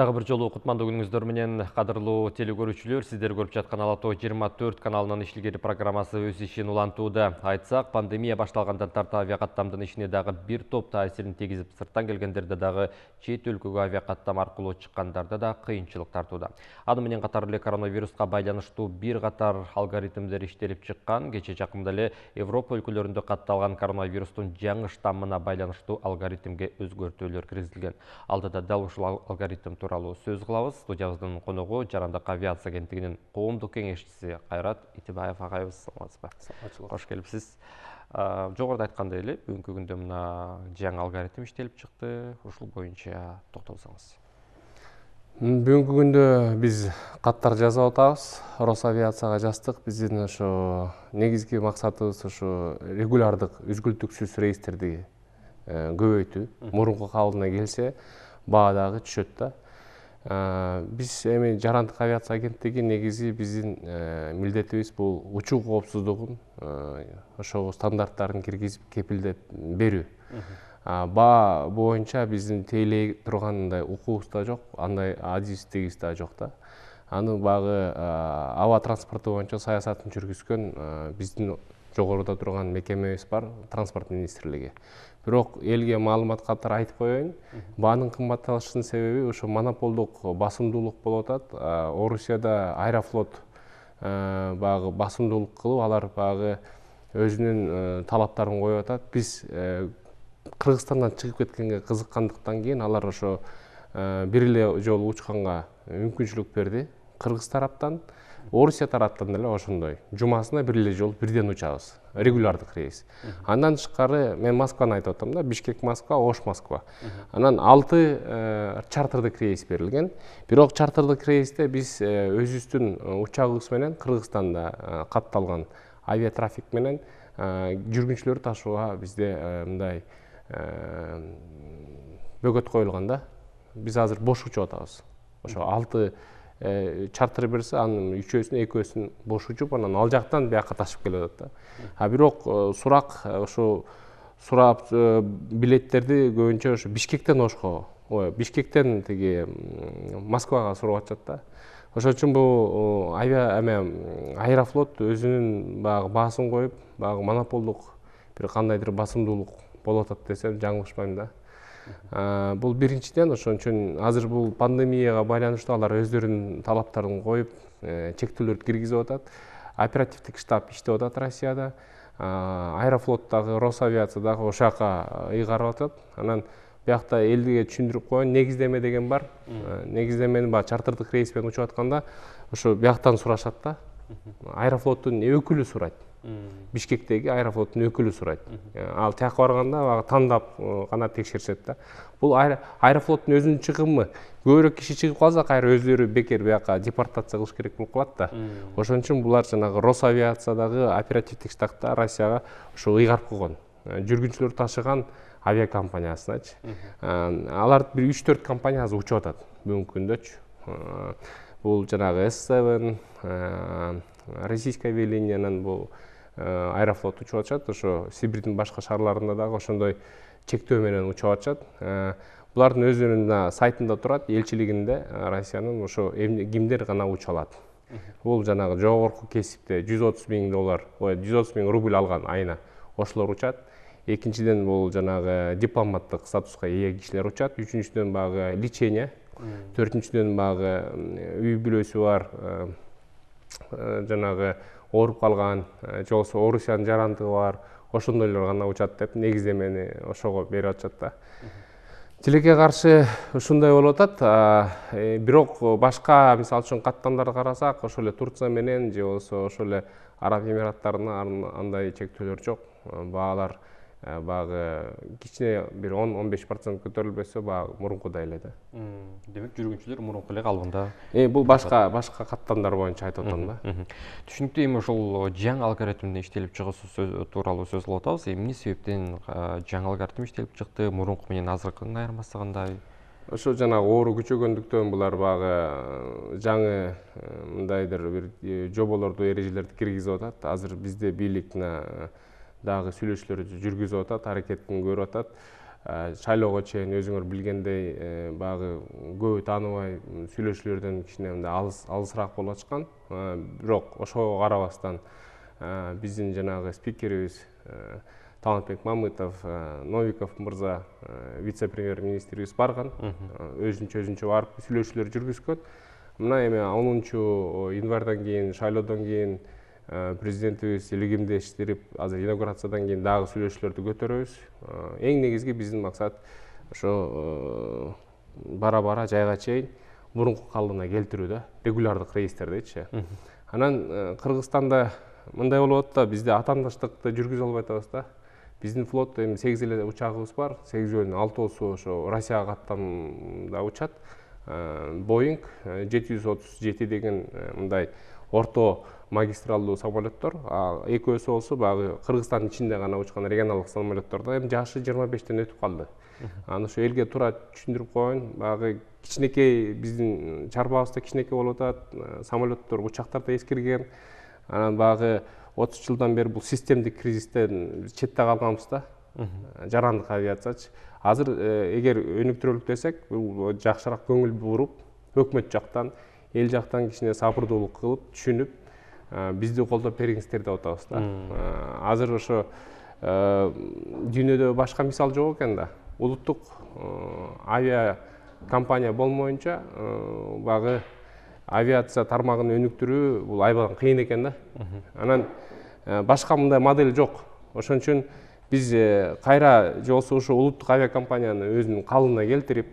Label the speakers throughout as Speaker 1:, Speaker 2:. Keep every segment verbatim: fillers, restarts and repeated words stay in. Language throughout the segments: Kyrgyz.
Speaker 1: Дагы бир жолу кутмандуу күнүңүздөр менен кадырлуу телекөрүүчүлөр, сиздер көрүп жаткан Ала Тоо жыйырма төрт каналынын иштилгери программасы өз ишин улантууда. Айтсак, пандемия башталгандан тарта авиакаттамдын ишине дагы бир топ таасирин тийгизип, сырттан келгендерде дагы чет өлкөгө авиакаттам аркылуу чыккандарда да кыйынчылык тартууда. Аны менен катар эле коронавируска байланыштуу бир катар алгоритмдер иштелип чыккан. Кече жакында эле Европа өлкөлөрүндө катталган коронавирустун жаңы штаммына байланыштуу алгоритмге өзгөртүүлөр киргизилген. Алдыда дал ушул алгоритм тууралуу сөз кылабыз. Студиябыздын коногу Жарандык авиация агенттигинин коомдук кеңешчиси Кайрат Итибаев агайыбыз. Саламатсызбы? Кош келипсиз. Жогоруда айткандай эле, бүгүнкү күндө мына жаңы алгоритм иштелип чыкты. Ушул боюнча токтолсоңуз.
Speaker 2: Бүгүнкү күндө биз каттар жазып атабыз. Росавиацияга жаздык. Биздин ошо негизги максатыбыз ошо регулярдык, үзгүлтүксүз рейстерди көбөйтүү. Мурунку калыбына келсе, баа дагы түшөт да. Биз эми Жарандык авиация агенттиги негизи биздин милдетибиз бул учуу коопсуздугун ошол стандарттарын киргизип кепилдеп берүү. Баа боюнча биздин тейлей турган андай укугубуз да жок, андай адистигибиз да жок да. Аны багы аба транспорту боюнча саясатын жүргүзгөн биздин жогоруда турган мекемебиз бар, Транспорт министрлиги. Бирок элге маалымат катары айтып коеюн, баанын кымбатташынын себеби ошо монополдук басымдуулук болуп атат. Орусияда Аэрофлот багы басымдуулук кылып, алар багы өзүнүн талаптарын коюп атат. Биз Кыргызстандан чыгып кеткенге кызыккандыктан кийин алар ошо бир эле жолу учканга мүмкүнчүлүк берди. Кыргыз тараптан, Орусия тараптан деле ошондой. Жумасына бир эле жолу бирден учабыз. Регулярдык рейс. Андан тышкары мен Москваны айтып атам да, Бишкек Москва, Ош Москва. Анан алты чартердик рейс берилген. Бирок чартердик рейсте биз өзүбүздүн учагыбыз менен Кыргызстанда катталган авиатрафик менен жүргүнчүлөрдү ташууга бизде мындай бөгөт коюлган да. Биз азыр бош учуп атабыз. Ошо алты чартер берсе, анын үчөөсүн, экөөсүн бош учуп, анан ал жактан бияка ташып келип атат да. А бирок сурак ошо сурап билеттерди көбүнчө ошо Бишкектен Ошко, ой, Бишкектен тиги Москвага сурап атышат да. Ошон үчүн бул авиа эме Аэрофлот өзүнүн багы баасын коюп, багы монополдук бир кандайдыр басымдуулук болуп атат десем жаңылышпайм да. Бул биринчиден, ошон үчүн азыр бул пандемияга байланыштуу алар өздөрүнүн талаптарын коюп, чектөөлөрдү киргизип атат. Оперативдик штаб иштеп атат Россияда. Аэрофлот дагы, Росавиация дагы ошол жака ыйгарып атат. Анан биякта элге түшүндүрүп коеюн, негиздеме деген бар. Негиздемени баягы чартердик рейс менен учуп атканда ошо бияктан сурашат да. Аэрофлоттун өкүлү сурайт. Бишкектеги Аэрофлоттун өкүлү сурайт. Ал тияка барганда баягы тандап гана текшеришет да. Бул Аэрофлоттун өзүнүн чыгымы. Көбүрөөк киши чыгып калса, кайра өздөрү бекер бияка депортация кылыш керек болуп калат да. Ошон үчүн булар жанагы Росавиациядагы оперативдик штабта Россияга ошо ыйгарып койгон. Жүргүнчүлөр ташыган авиакомпаниясыначы. Алар бир үч төрт компания азыр учуп атат бүгүнкү күндөчү. Бул жанагы эс севен, Российское авиалиниянын бул Аэрофлот учуп атышат. Ошо Сибирдин башка шаарларында дагы ошондой чектөө менен учуп атышат. Булардын өзүнүн сайтында турат, элчилигинде Россиянын ошо кимдер гана уча алат. Бул жанагы жогорку кесипте жүз отуз миң доллар, ой, жүз отуз миң рубль алган айына ошолор учат. Экинчиден бул жанагы дипломаттык статуска ээ кишилер учат. Үчүнчүдөн багы лечение. Төртүнчүдөн багы үй бүлөсү бар, жанагы ооруп калган, же болбосо Орусиянын жарандыгы бар, ошондойлор гана учат деп негиздемени ошого берип атышат да. Тилекке каршы ушундай болуп атат. Бирок башка, мисалы үчүн каттамдарды карасак, ошол эле Турция менен же болбосо ошол эле Араб Эмираттарына андай чектөөлөр жок. Баалар багы кичине бир он он беш процент көтөрүлбөсө, багы мурункудай эле да.
Speaker 1: Демек жүргүнчүлөр мурунку эле калыбында.
Speaker 2: Э, бул башка башка каттамдар боюнча айтып атам да.
Speaker 1: Түшүнүктүү. Эми ошол жаңы алгоритмдин иштелип чыгуусу тууралуу сөз кылып атабыз. Эмне себептен жаңы алгоритм иштелип чыкты? Мурунку менен азыркынын айырмасы кандай?
Speaker 2: Ошо жанагы оору күчөгөндүктөн булар багы жаңы мындайдыр бир жоболорду, эрежелерди киргизип атат. Азыр бизде бийлик дагы сүйлөшүүлөрдү жүргүзүп атат, аракетин көрүп атат. шайлоого чейин өзүңөр билгендей баягы көбү тааныбай сүйлөшүүлөрдөн кичине мындай алыс алысыраак болуп ачкан. Бирок ошого карабастан биздин жанагы спикерибиз Талантбек Мамытов, Новиков мырза, вице-премьер-министрибиз барган, өзүнчө өзүнчө барып сүйлөшүүлөр жүргүзгөн. Мына эми онунчу январдан кийин, шайлоодон кийин президентибиз илигимдештирип, азыр инаугурациядан кийин дагы сүйлөшүүлөрдү көтөрөбүз. Эң негизги биздин максат ошо бара-бара жайга чейин мурунку калыбына келтирүү да, регулярдык рейстердичи. Анан Кыргызстанда мындай болуп атат да, бизде атаандаштыкты жүргүзө албай атабыз да. Биздин флотто эми сегиз эле учагыбыз бар, сегизөөнүн алтоосу ошо Россияга каттамда учат. Боинг жети жүз отуз жети деген мындай орто магистралдуу самолеттор, экөөсү болсо баягы Кыргызстандын ичинде гана учкан регионалдык самолеттор да, эми жашы жыйырма бештен өтүп калды. Аны ошо элге туура түшүндүрүп коеюн, баягы кичинекей биздин чарбабызда кичинекей болуп атат, самолеттор, учактар да эскирген. Анан баягы отуз жылдан бери бул системдик кризистен четте калганбыз да, жарандык авиациячы. Азыр эгер өнүктүрөлүк десек, бул жакшыраак көңүл буруп, өкмөт жактан, эл жактан кичине сабырдуулук кылып, түшүнүп, бизди колдоп бериңиздер деп атабыз да. Азыр ошо дүйнөдө башка мисал жок экен да. Улуттук авиа компания болмоюнча баягы авиация тармагын өнүктүрүү бул аябай кыйын экен да. Анан башка мындай модель жок. Ошон үчүн биз кайра же болбосо ошо улуттук авиакомпанияны өзүнүн калыбына келтирип,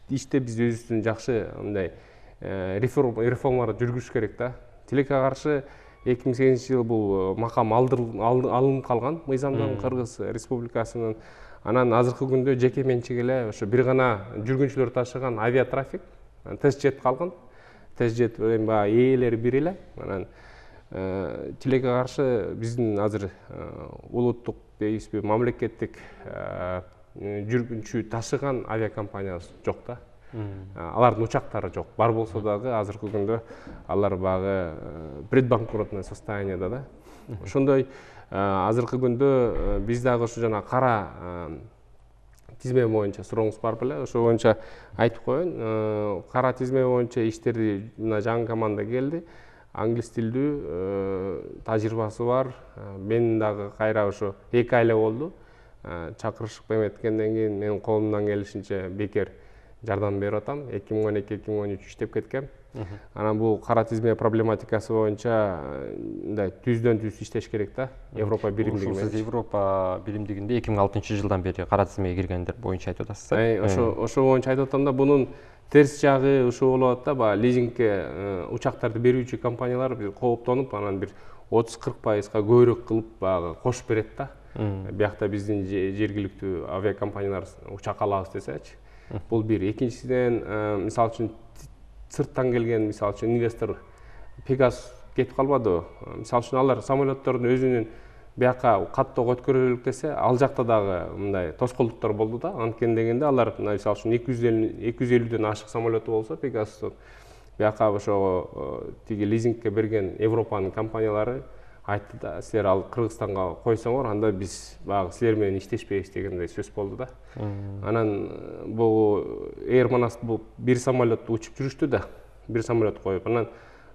Speaker 2: ичте биз өзүбүздүн жакшы мындай реформаларды жүргүзүш керек да. Тилекке каршы эки миң сегизинчи жылы бул макам алынып калган мыйзамдан Кыргыз Республикасынын. Анан азыркы күндө жеке менчик эле ошо бир гана жүргүнчүлөр ташыган авиатрафик тест жет калган. Тест жет баягы ээлери бир эле. Анан тилекке каршы биздин азыр улуттук дейбизби, мамлекеттик жүргүнчү ташыган авиакомпаниябыз жок да. Алардын учактары жок. Бар болсо дагы азыркы күндө алар баягы предбанкротное состояниеда да. Ошондой азыркы күндө биз дагы ушу жана кара тизме боюнча сурооңуз бар беле, ошо боюнча айтып коеюн. Кара тизме боюнча иштерди мына жаңы команда келди. Англис тилдүү тажрыйбасы бар. Мен дагы кайра ошо эки айла болду. Чакырышып эметкенден кийин менин колумдан келишинче бекер жардам берип атам. эки миң он эки эки миң он үч иштеп кеткем. Анан бул кара тизме проблематикасы боюнча мындай түздөн түз иштеш керек да. Европа биримдиги менен.
Speaker 1: Сиз Европа биримдигинде эки миң алтынчы жылдан бери кара тизмеге киргендер боюнча айтып атасыз.
Speaker 2: Ошо ошо боюнча айтып атам да, бунун терс жагы ушул болуп атат да, баягы лизингке учактарды берүүчү компаниялар бир кооптонуп, анан бир отуз кырк пайызга көбүрөөк кылып баягы кошуп берет да. Биякта биздин жергиликтүү авиакомпаниялар учак алабыз десечи. Бул бир. Экинчиден, мисалы үчүн сырттан келген, мисалы үчүн инвестор Пегас кетип калбадыбы? Мисалы үчүн алар самолеттордун өзүнүн бияка каттоого өткөрөлүк десе, ал жакта дагы мындай тоскоолдуктар болду да. Анткени дегенде алар мисалы үчүн эки жүз элүүдөн ашык самолету болсо Пегастын бияка ошого тиги лизингке берген Европанын компаниялары айтты да, силер ал Кыргызстанга койсоңор, анда биз баягы силер менен иштешпейбиз дегендей сөз болду да. Анан бул Air Manas бул бир самолетту учуп жүрүштү да, бир самолет коюп. Анан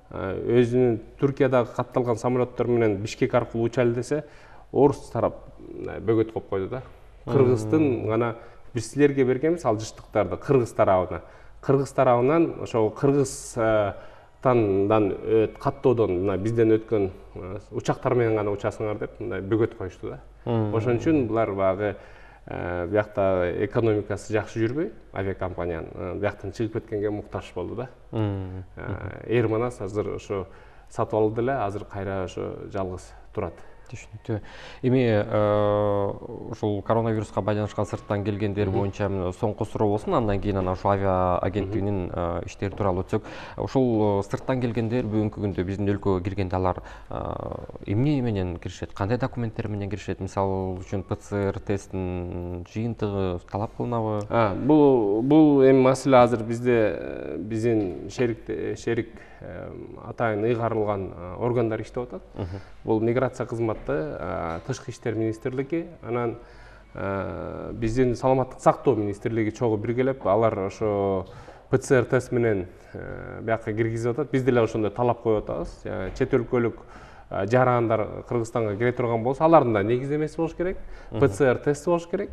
Speaker 2: өзүнүн Туркиядагы катталган самолеттор менен Бишкек аркылуу учайлы десе, орус тарап бөгөт коюп койду да. Кыргыздын гана биз силерге бергенбиз ал жыштыктарды Кыргыз тарабына. Кыргыз тарабынан ошо Кыргыз тандан каттоодон мына бизден өткөн учактар менен гана учасыңар деп мындай бөгөт коюшту да. Ошон үчүн булар баягы биякта экономикасы жакшы жүрбөй, авиакомпаниянын бияктан чыгып кеткенге муктаж болду да. Air Manas азыр ошо сатып алды эле, азыр кайра ошо жалгыз турат.
Speaker 1: Түшүнүктүү. Эми ушул коронавируска байланышкан сырттан келгендер боюнча соңку суроо болсун, андан кийин анан ушул авиа агенттигинин иштери тууралуу өтсөк. Ушул сырттан келгендер бүгүнкү күндө биздин өлкөгө киргенде алар эмне менен киришет? Кандай документтер менен киришет? Мисалы үчүн ПЦР тесттин жыйынтыгы талап кылынабы?
Speaker 2: Бул бул эми маселе азыр бизде биздин шерик шерик атайын ыйгарылган органдар иштеп атат. Бул миграция кызматы, Тышкы иштер министрлиги, анан биздин саламаттык сактоо министрлиги чогуу биргелеп алар ошо ПЦР тест менен бияка киргизип атат. Биз деле ошондой талап коюп атабыз. Чет өлкөлүк жарандар Кыргызстанга кире турган болсо, алардын да негиздемеси болуш керек, ПЦР тести болуш керек.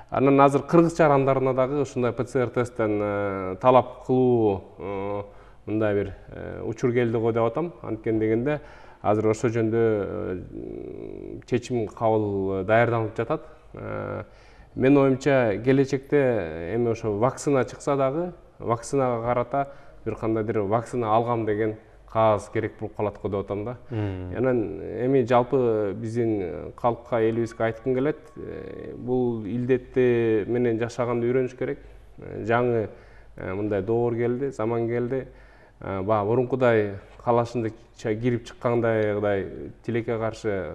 Speaker 2: Анан азыр кыргыз жарандарына дагы ушундай ПЦР тесттен талап кылуу мындай бир учур келди го деп атам. Анткени дегенде азыр ошол жөнүндө чечим кабыл даярданып жатат. Мен оюмча келечекте эми ошо вакцина чыкса дагы, вакцинага карата бир кандайдыр вакцина алгам деген кагаз керек болуп калат го деп атам да. Анан эми жалпы биздин калкка, элибизге айткым келет, бул илдетти менен жашаганды үйрөнүш керек. Жаңы мындай доор келди, заман келди. Баа мурункудай калашындыкча кирип чыккандайдай тилекке каршы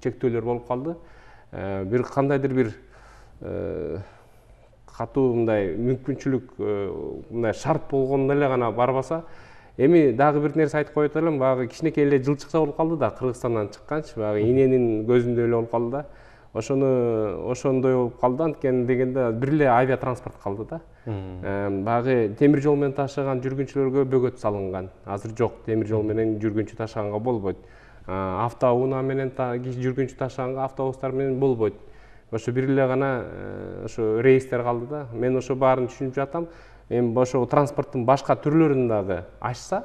Speaker 2: чектөөлөр болуп калды. Бир кандайдыр бир катуу мындай мүмкүнчүлүк, мындай шарт болгондо эле гана барбаса, эми дагы бир нерсе айтып коет элем, багы кичинекей эле жылчыкча болуп калды да, Кыргызстандан чыкканчы, багы иненин көзүндөй эле болуп калды да. Ошону ошондой болуп калды, анткени дегенде бир эле авиатранспорт калды да. Багы темир жол менен ташыган жүргүнчүлөргө бөгөт салынган. Азыр жок, темир жол менен жүргүнчү ташыганга болбойт. Автоунаа менен жүргүнчү ташыганга автобустар менен болбойт. Ошо бир эле гана ошо рейстер калды да. Мен ошо баарын түшүнүп жатам. Эми ошо транспорттун башка түрлөрүн дагы ачса,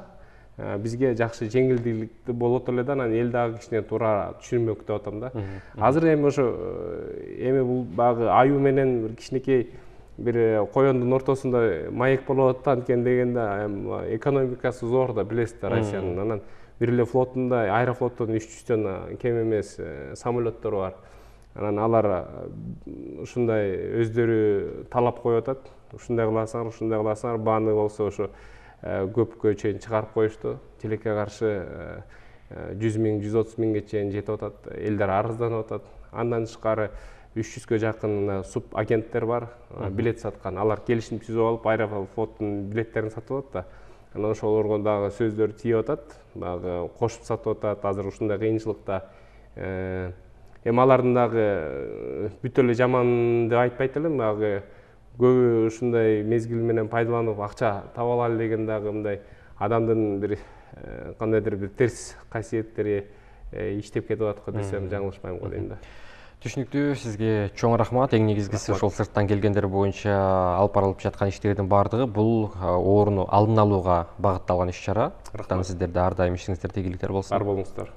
Speaker 2: бизге жакшы жеңилдүүлүктүү болот эле да, анан эл дагы кичине туура түшүнмөк деп атам да. Азыр эми ошо эми бул багы аюу менен бир кичинекей бир коёндун ортосунда маек болуп атат, анткени дегенде экономикасы зор да, билесиздер Россиянын. Анан бир эле флотунда, Аэрофлоттун үч жүздөн кем эмес самолеттору бар. Анан алар ушундай өздөрү талап коюп атат. Ушундай кыласыңар, ушундай кыласыңар, бааны болсо ошо көпкө чейин чыгарып коюшту. Тилекке каршы жүз миң, жүз отуз миңге чейин жетип атат. Элдер арызданып атат. Андан тышкары үч жүзгө жакын суп агенттер бар, билет саткан. Алар келишим түзүп алып, Аэрофлоттун билеттерин сатып атат да. Анан ошолорго дагы сөздөр тийип атат, дагы кошуп сатып атат. Азыр ушундай кыйынчылыкта эми алардын дагы бүт эле жаман деп айтпайт элем, дагы көбү ушундай мезгил менен пайдаланып акча таба алалы деген дагы мындай адамдын бир кандайдыр бир терс касиеттери иштеп кетип аткан десем жаңылышпайм го дейм да.
Speaker 1: Түшүнүктүү, сизге чоң рахмат. Эң негизгиси ошол сырттан келгендер боюнча алып барылып жаткан иштердин баардыгы бул ооруну алдын алууга багытталган иш-чара. Сиздерде ар дайым ишиңиздер тийгиликтер болсун.
Speaker 2: Бар болуңуздар.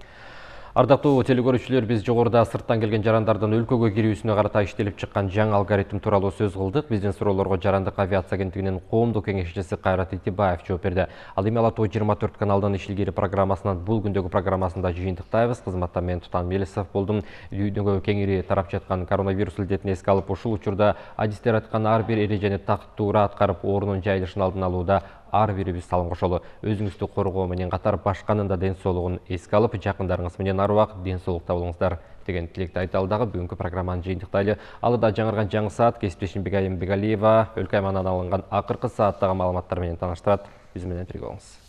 Speaker 1: Ардактуу телекөрүүчүлөр, биз жогоруда сырттан келген жарандардын өлкөгө кирүүсүнө карата иштелип чыккан жаңы алгоритм тууралуу сөз кылдык. Биздин суроолорго Жарандык авиация агенттигинин коомдук кеңешчиси Кайрат Итибаев жооп берди. Ал эми Ала Тоо жыйырма төрт каналынын иш илгери программасынан бул күндөгү программасында жыйынтыктайбыз. Кызматта мен Тутан Мелисов болдум. Дүйнөгө кеңири тарап жаткан коронавирус илдетин эске алып, ушул учурда адистер айткан ар бир эрежени так туура аткарып, оорунун жайылышын алдын алууда ар бирибиз салым кошолу. Өзүңүздү коргоо менен катар башканын да ден соолугун эске алып, жакындарыңыз менен ар убак ден соолукта болуңуздар деген тилекти айталы дагы бүгүнкү программаны жыйынтыктайлы. Алыда жаңырган жаңы саат кесиптешим Бегайым Бегалиева өлкө аймагынан алынган акыркы сааттагы маалыматтар менен тааныштырат. Биз менен бирге болуңуз.